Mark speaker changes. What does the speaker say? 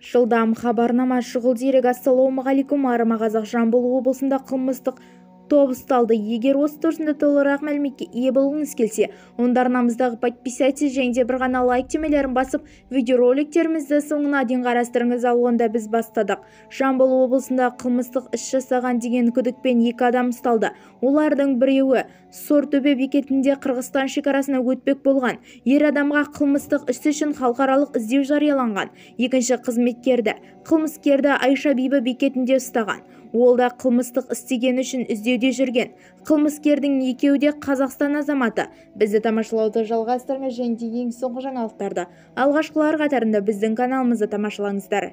Speaker 1: Жылдам хабарнама шұғыл дерек. Ассалаумағалейкум, арма қазақ. Жамбыл облысында қылмыстық топ ұсталды. Егер осы турасында толығырақ мәліметке ие болғыңыз келсе, онда арнамыздағы подписайтесь және де бір ғана лайк түймелерін басып, видеороликтерімізді соңына дейін қарастырыңыз. Ал онда біз бастадық. Жамбыл облысында қылмыстық іс жасаған деген күдікпен 2 адам ұсталды. Олардың біреуі Сортөбе бекетінде Қырғызстан шекарасына өтпек болған. Ер адамға қылмыстық іс үшін халықаралық іздеу жарияланған. Екінші қылмыскерді Айша Бибі бекетінде ұстаған. Ол да қылмыстық істеген үшін іздеуде жүрген. Қылмыскердің екеуі де Қазақстан азаматы. Бізді тамашалауды жалғастырыңыз және ең соңғы жаңалықтарды алғашқылар қатарында біздің каналымызды тамашалаңыздар.